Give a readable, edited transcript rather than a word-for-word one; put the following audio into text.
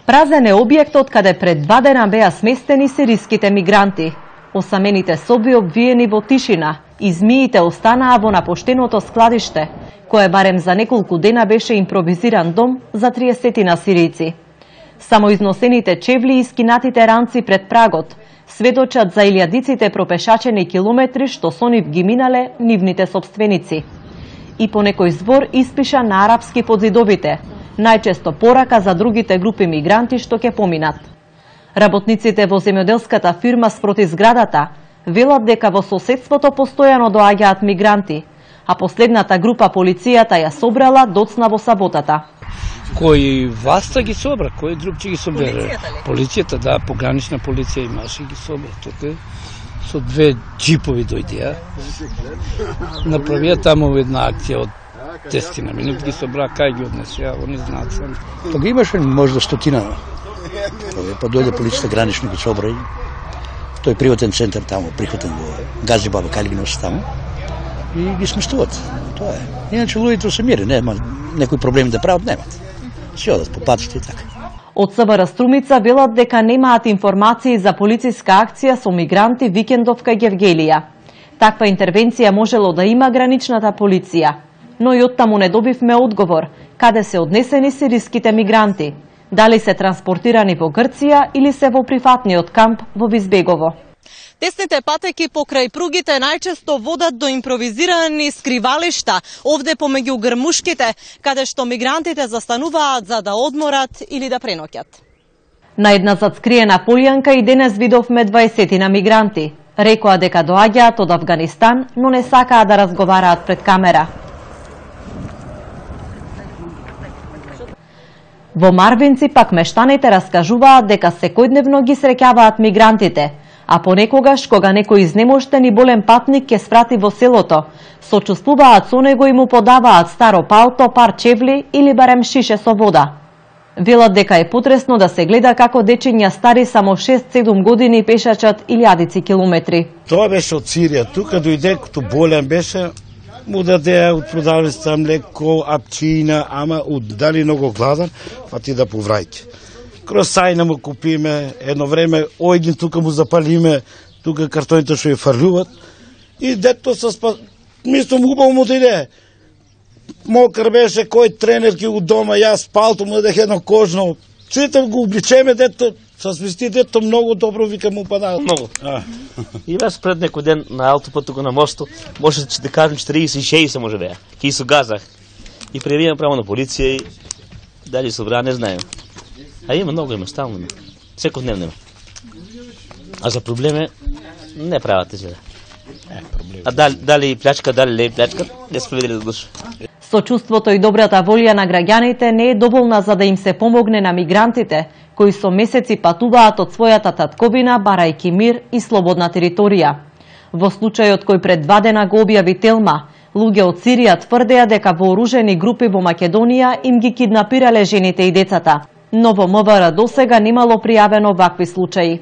Празен е објектот каде пред 2 дена беа сместени сириските мигранти. Осамените соби обвиени во тишина и змиите останаа во напоштеното складиште, кое барем за неколку дена беше импровизиран дом за 30 сирици. Само износените чевли и скинатите ранци пред прагот сведочат за илјадиците пропешачени километри што со нив ги минале нивните сопственици. И по некој збор испиша на арапски под зидовите, најчесто порака за другите групи мигранти што ќе поминат. Работниците во земјоделската фирма спроти зградата велат дека во соседството постојано доаѓаат мигранти, а последната група полицијата ја собрала доцна во саботата. Кој власта ги собра, кој друг ќе ги собере? Полицијата, да, погранична полиција имаше ги собра тука. Со 2 джипови дојдеа. Направија таму една акција од 10 минути ги собра, кај ги однесеа, они знаат само. Тога имаше можда 100. Па дојде полицијата гранично ги собра. Тој приватен центар таму, прихватен во Газибаба, кај ги носи таму. И ги сместуват. Тоа е. Иначе луѓето се мири, нема некои проблеми да прават, немат. Си одат по патите и така. Од СВР Струмица велат дека немаат информации за полициска акција со мигранти викендов кај Гевгелија. Таква интервенција можело да има граничната полиција, но и оттаму не добивме одговор каде се однесени сириските мигранти, дали се транспортирани во Грција или се во прифатниот камп во Визбегово. Тесните патеки покрај пругите најчесто водат до импровизирани скривалишта, овде помеѓу грмушките, каде што мигрантите застануваат за да одморат или да преноќат. На една затскриена полјанка и денес видовме 20 мигранти. Рекоа дека доаѓаат од Авганистан, но не сакаа да разговараат пред камера. Во Марвинци пак мештаните раскажуваат дека секојдневно ги среќаваат мигрантите, а понекогаш, кога некој изнемоштен и болен патник ќе спрати во селото, сочувствуваат со него и му подаваат старо палто, пар чевли или барем шише со вода. Велат дека е потресно да се гледа како дечиња стари само 6-7 години пешачат илјадици километри. Тоа беше од Сирија, тука дојде като болен беше, му даде од продавницата млеко, апчина, ама дали многу гладен, фати да повраќа. Кросајна му купиме, едно време ојдин тука му запалиме, тука картоните што ја фрлуват и дето со мислам убаво му дојде. Мокар беше, кој тренер ки у дома, јас палто му дадех едно кожно. Сите го обличеме, дето со смести, дето многу добро вика му падаат. Многу. И јас пред некој ден на аутопот тука на мосту, може да кажем 46 може беа. Ки се газах. И пријавивам право на полиција и дали собра, не знаем. А има многу, има стално. Секојдневно има. А за проблеме не правате се. А дали плячка, дали не плячка, не сме видели да душа. Сочувството и добрата волја на граѓаните не е доволна за да им се помогне на мигрантите, кои со месеци патуваат од својата татковина барајки мир и слободна територија. Во случајот кој пред 2 дена го објави Телма, луѓе од Сирија тврдеа дека вооружени групи во Македонија им ги киднапирале жените и децата. Но во МВР досега немало пријавено вакви случаи.